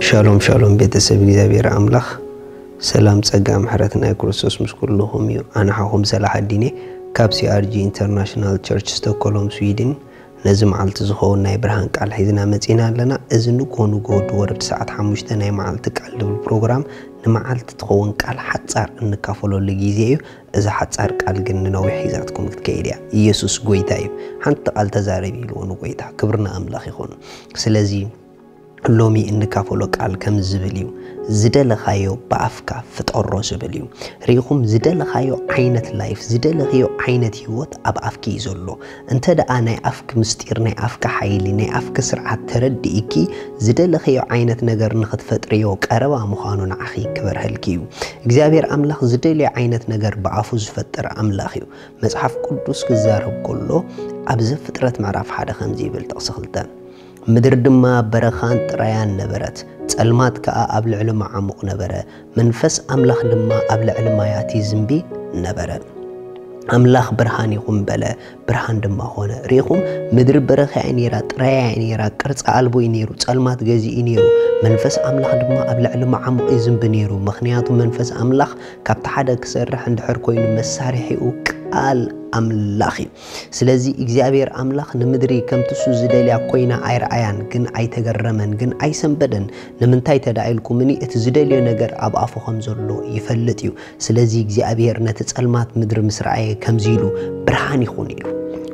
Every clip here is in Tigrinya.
ሻሎም ሻሎም ቤተሰብ እግዚኣብሔር ኣምላኽ ሰላም ጸጋ ምሕረት ናይ ክርስቶስ ምስ ኩልኹም እዩ። ኣነ ሓኹም ሰላሓዲን እየ ካብ ሲኣርጂ ኢንተርናሽናል ቸርች ስቶኮሎም ስዊድን። ነዚ መዓልቲ ዝኸውን ናይ ብርሃን ቃል ሒዝና መጺና ኣለና። እዚ ንግሆ ንግሆ ድወርድ ሰዓት ሓሙሽተ ናይ መዓልቲ ቃል ድብል ፕሮግራም ንመዓልቲ ትኸውን ቃል ሓጻር እንካፈለሉ ግዜ እዩ። እዛ ሓጻር ቃል ግን ንነዊሕ ሒዛትኩም ክትከይድ እያ። ኢየሱስ ጎይታ እዩ። ሓንቲ ቃል ተዛረብ ኢልዎ ንጎይታ። ክብሪ ንኣምላኽ ይኹን። ስለዚ ሎሚ እንካፈሎ ቃል ከም ዝብል እዩ፣ ዝደለኻዮ ብኣፍካ ፍጠሮ ዝብል እዩ። ርኢኹም፣ ዝደለኻዮ ዓይነት ላይፍ፣ ዝደለኽዮ ዓይነት ህይወት ኣብ ኣፍኪ እዩ ዘሎ። እንተ ደኣ ናይ ኣፍኪ ምስጢር፣ ናይ ኣፍኪ ሓይሊ፣ ናይ ኣፍኪ ስርዓት ተረዲእኪ፣ ዝደለኽዮ ዓይነት ነገር ንኽትፈጥርዮ ቀረባ ምዃኑ ንዓኺ ክበርሀልኪ እዩ። እግዚኣብሔር ኣምላኽ ዝደልዮ ዓይነት ነገር ብኣፉ ዝፈጥር ኣምላኽ እዩ። መጽሓፍ ቅዱስ ክዛረብ ከሎ ኣብ ዘፍጥረት ምዕራፍ ሓደ ከምዚ ይብል፣ ጥቕሲ ክልተ፣ ምድሪ ድማ በረኻን ጥራያን ነበረት፣ ጸልማት ከኣ ኣብ ልዕሊ መዓሙቕ ነበረ፣ መንፈስ ኣምላኽ ድማ ኣብ ልዕሊ ማያት ይዝንቢ ነበረ። ኣምላኽ ብርሃን ይኹን በለ፣ ብርሃን ድማ ኾነ። ርኢኹም፣ ምድሪ በረኻ እያ ነይራ፣ ጥራያ እያ ነይራ፣ ቅርጺ ኣልቦ እዩ ነይሩ፣ ጸልማት ገዚኡ እዩ ነይሩ። መንፈስ ኣምላኽ ድማ ኣብ ልዕሊ መዓሙቕ ይዝንቢ ነይሩ፣ ምኽንያቱ መንፈስ ኣምላኽ ካብቲ ሓደ ክሰርሕ እንድሕር ኮይኑ መሳርሒኡ ቃል ኣምላኽ እዩ። ስለዚ እግዚኣብሔር ኣምላኽ ንምድሪ ከምቲ እሱ ዝደልያ ኮይና ኣይረኣያን፣ ግን ኣይተገረመን፣ ግን ኣይሰንበደን። ንምንታይ ተዳኢልኩምኒ? እቲ ዝደልዮ ነገር ኣብ ኣፉ ከም ዘሎ ይፈልጥ እዩ። ስለዚ እግዚኣብሔር ነቲ ጸልማት ምድሪ ምስ ረኣየ ከምዚ ኢሉ፣ ብርሃን ይኹን ኢሉ።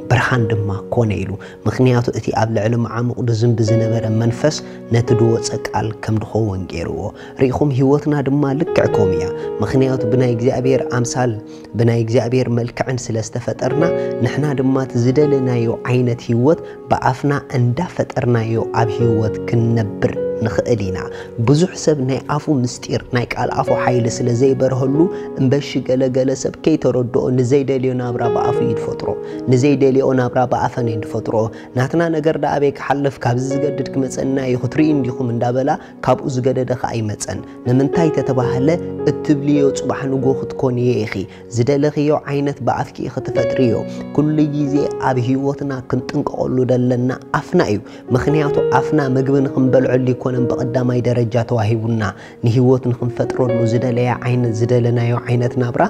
ብርሃን ድማ ኮነ ኢሉ። ምኽንያቱ እቲ ኣብ ልዕሊ መዓሙቕ ድዝንቢ ዝነበረ መንፈስ ነቲ ድወጸ ቃል ከም ድኸውን ገይርዎ። ርኢኹም፣ ህይወትና ድማ ልክዕ ከምኡ እያ። ምኽንያቱ ብናይ እግዚኣብሔር ኣምሳል ብናይ እግዚኣብሔር መልክዕን ስለ ዝተፈጠርና፣ ንሕና ድማ እቲ ዝደለናዮ ዓይነት ህይወት ብኣፍና እንዳፈጠርናዮ ኣብ ህይወት ክንነብር ንኽእል ኢና። ብዙሕ ሰብ ናይ ኣፉ ምስጢር፣ ናይ ቃል ኣፉ ሓይሊ ስለ ዘይበርሀሉ፣ እምበሺ ገለገለ ሰብ ከይተረድኦ ንዘይደልዮ ናብራ ብኣፉ እዩ ዝፈጥሮ፣ ንዘይደልዮ ናብራ ብኣፈን እዩ ዝፈጥሮ። ናትና ነገር ደኣ ኣበይ ክሓልፍ፣ ካብዚ ዝገድድ ክመጸና እዩ፣ ክትርእዩ እንዲኹም እንዳበላ ካብኡ ዝገደደ ኸኣ ይመጸን። ንምንታይ ተተባህለ፣ እትብልዮ ጽባሕ ንጎ ክትኮን እየ ኢኺ። ዝደለኽዮ ዓይነት ብኣፍኪ ኢኺ ትፈጥርዮ። ኩሉ ግዜ ኣብ ህይወትና ክንጥንቀቐሉ ደለና ኣፍና እዩ። ምኽንያቱ ኣፍና ምግቢ ንኽንበልዐሉ ኣይኮነን ብቐዳማይ ደረጃ ተዋሂቡና። ንህይወት ንኽንፈጥረሉ ዝደለያ ዓይነት፣ ዝደለናዮ ዓይነት ናብራ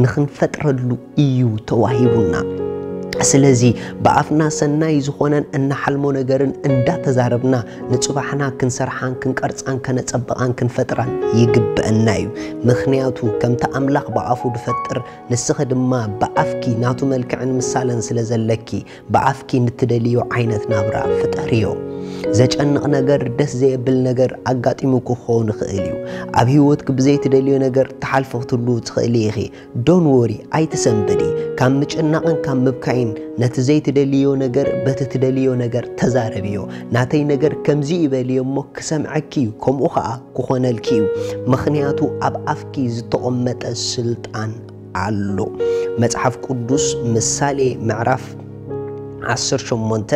ንኽንፈጥረሉ እዩ ተዋሂቡና። ስለዚ ብኣፍና ሰናይ ዝኾነን እንሓልሞ ነገርን እንዳተዛረብና ንጽባሕና ክንሰርሓን ክንቀርጻን ከነጸብቓን ክንፈጥራን ይግብአና እዩ። ምኽንያቱ ከምቲ ኣምላኽ ብኣፉ ድፈጥር፣ ንስኺ ድማ ብኣፍኪ ናቱ መልክዕን ምሳለን ስለ ዘለኪ፣ ብኣፍኪ ንትደልዮ ዓይነት ናብራ ፍጠርዮ። ዘጨንቕ ነገር፣ ደስ ዘየብል ነገር ኣጋጢሙኪ ክኸውን ይኽእል እዩ። ኣብ ህይወትኪ ብዘይትደልዮ ነገር ትሓልፊ ክትህልዊ ትኽእሊ ኢኺ። ዶን ወሪ፣ ኣይትሰንብዲ። ካብ ምጭናቕን ካብ ምብካይን ነቲ ዘይትደልዮ ነገር በቲ ትደልዮ ነገር ተዛረብዮ። ናተይ ነገር ከምዚ እዩ በልዮ እሞ ክሰምዐኪ እዩ፣ ከምኡ ኸኣ ክኾነልኪ እዩ። ምኽንያቱ ኣብ ኣፍኪ ዝተቐመጠ ስልጣን ኣሎ። መጽሓፍ ቅዱስ ምሳሌ ምዕራፍ ዓሰርተ ሸሞንተ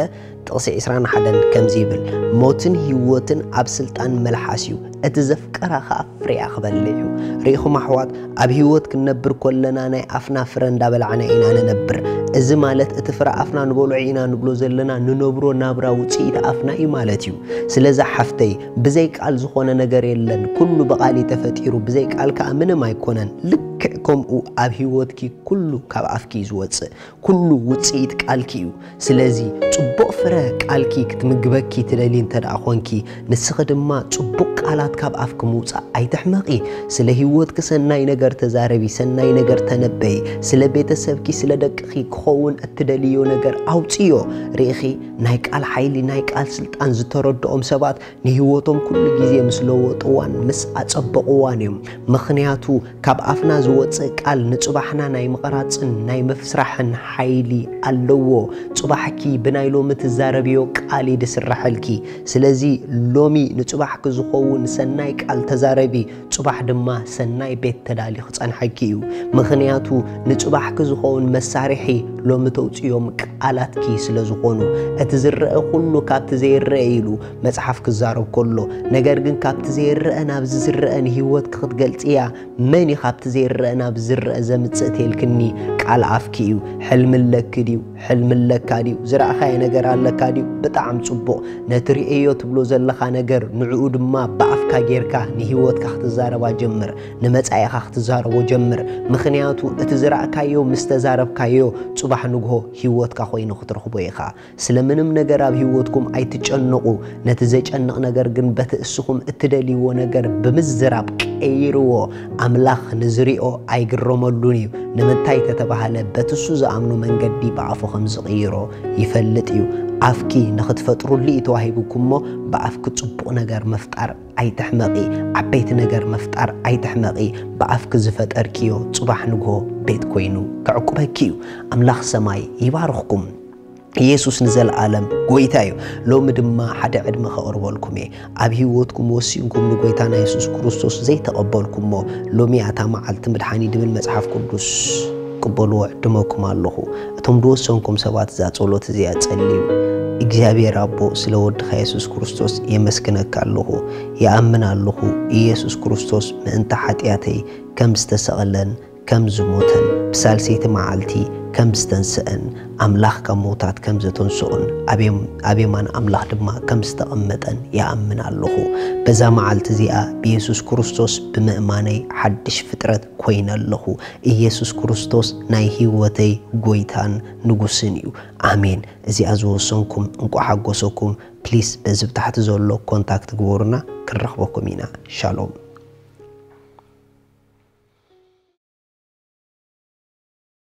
ጥቕሲ ዕስራን ሓደን ከምዚ ይብል፣ ሞትን ህይወትን ኣብ ስልጣን መልሓስ እዩ፣ እቲ ዘፍቀራ ኸኣ ፍሬኣ ክበልዕ እዩ። ርኢኹም ኣሕዋት፣ ኣብ ህይወት ክንነብር ከለና ናይ ኣፍና ፍረ እንዳበላዕና ኢና ንነብር። እዚ ማለት እቲ ፍረ ኣፍና ንበልዖ ኢና ንብሎ ዘለና ንነብሮ ናብራ ውጽኢት ኣፍና እዩ ማለት እዩ። ስለዚ ሓፍተይ፣ ብዘይ ቃል ዝኾነ ነገር የለን፣ ኩሉ ብቓል እዩ ተፈጢሩ፣ ብዘይ ቃል ከኣ ምንም ኣይኮነን። ልክዕ ከምኡ ኣብ ህይወትኪ ኩሉ ካብ ኣፍኪ እዩ ዝወጽእ። ኩሉ ውጽኢት ቃልኪ እዩ። ስለዚ ጽቡቕ ፍረ ቃልኪ ክትምግበኪ ትደሊ እንተ ደኣ ኾንኪ፣ ንስኺ ድማ ጽቡቕ ቃላት ካብ ኣፍኪ ምውጻእ ኣይትሕመቒ። ስለ ህይወትኪ ሰናይ ነገር ተዛረቢ፣ ሰናይ ነገር ተነበዪ። ስለ ቤተሰብኪ፣ ስለ ደቅኺ ክኸውን እትደልዮ ነገር ኣውጽዮ። ርኢኺ፣ ናይ ቃል ሓይሊ፣ ናይ ቃል ስልጣን ዝተረድኦም ሰባት ንህይወቶም ኩሉ ግዜ ምስ ለወጥዋን ምስ ኣጸበቕዋን እዮም። ምኽንያቱ ካብ ኣፍና ዝወጽእ ቃል ንጽባሕና ናይ ምቕራጽን ናይ ምፍስራሕን ሓይሊ ኣለዎ። ጽባሕኪ ብናይ ሎሚ ትዛረብዮ ቃል እዩ ዝስረሐልኪ። ስለዚ ሎሚ ንጽባሕኪ ዝኸውን ሰናይ ቃል ተዛረቢ፣ ጽባሕ ድማ ሰናይ ቤት ተዳሊ ክጸንሐኪ እዩ። ምኽንያቱ ንጽባሕኪ ዝኸውን መሳርሒ ሎሚ ተውፅዮም ቃላትኪ ስለ ዝኾኑ፣ እቲ ዝረአ ኩሉ ካብቲ ዘይረአ ኢሉ መፅሓፍ ክዛረብ ከሎ፣ ነገር ግን ካብቲ ዘይረአ ናብዚ ዝረአ ንህይወትኪ ክትገልፅያ፣ መን እዩ ካብቲ ዘይረአ ናብ ዝረአ ዘምፅእ ተልክኒ? ቃል ኣፍኪ እዩ። ሕልሚ ኣለኪ ድዩ? ሕልሚ ኣለካ ድዩ? ዝረኣኻዮ ነገር ኣለካ ድዩ? ብጣዕሚ ፅቡቕ። ነቲ ርእዮ ትብሎ ዘለኻ ነገር ንዕኡ ድማ ብኣፍካ ጌርካ ንህይወትካ ክትዛረባ ጀምር። ንመጻኢኻ ክትዛረቦ ጀምር። ምኽንያቱ እቲ ዝረኣካዮ ምስ ተዛረብካዮ ጽባሕ ንግሆ ህይወትካ ኮይኑ ክትረኽቦ ኢኻ። ስለ ምንም ነገር ኣብ ህይወትኩም ኣይትጨነቑ። ነቲ ዘጨንቕ ነገር ግን በቲ እስኹም እትደልይዎ ነገር ብምዝራብ ቀይርዎ። ኣምላኽ ንዝሪኦ ኣይግረመሉን እዩ። ንምንታይ ተተባህለ በቲ እሱ ዝኣምኖ መንገዲ ብኣፉ ከም ዝቕይሮ ይፈልጥ እዩ። ኣፍኪ ንኽትፈጥሩሉ እዩ ተዋሂቡኩም እሞ ብኣፍኪ ጽቡቕ ነገር ምፍጣር ኣይትሕመቒ። ዓበይቲ ነገር ምፍጣር ኣይትሕመቒ። ብኣፍኪ ዝፈጠርክዮ ጽባሕ ንግሆ ቤት ኮይኑ ከዕቁበኪ እዩ። ኣምላኽ ሰማይ ይባርኽኩም። ኢየሱስ ንዘለኣለም ጎይታ እዩ። ሎሚ ድማ ሓደ ዕድመ ከቕርበልኩም እየ። ኣብ ህይወትኩም ወሲንኩም ንጎይታና የሱስ ክርስቶስ ዘይተቐበልኩሞ፣ ሎሚ እያ እታ መዓልቲ ምድሓኒ ድብል መጽሓፍ ቅዱስ። ቅበልዎ ዕድመኩም ኣለኹ። እቶም ዝወሰንኩም ሰባት እዛ ጸሎት እዚኣ ጸልዩ። እግዚኣብሔር ኣቦ፣ ስለ ወድኻ የሱስ ክርስቶስ የመስግነካ ኣለኹ። ይኣምን ኣለኹ፣ ኢየሱስ ክርስቶስ ምእንቲ ሓጢኣተይ ከም ዝተሰቕለን ከም ዝሞተን ብሳልሰይቲ መዓልቲ ከም ዝተንስአን ኣምላኽ ካብ ምውታት ከም ዘተንስኦን ኣብ የም-፣ ኣብ የማን ኣምላኽ ድማ ከም ዝተቐመጠን ይኣምን ኣለኹ። በዛ መዓልቲ እዚኣ ብየሱስ ክርስቶስ ብምእማነይ ሓድሽ ፍጥረት ኮይነ ኣለኹ። ኢየሱስ ክርስቶስ ናይ ህይወተይ ጎይታን ንጉስን እዩ። ኣሜን። እዚኣ ዝወሰንኩም እንቋዕ ሓጎሰኩም። ፕሊስ በዚ ብታሕቲ ዘሎ ኮንታክት ግበሩና፣ ክንረኽበኩም ኢና። ሻሎም።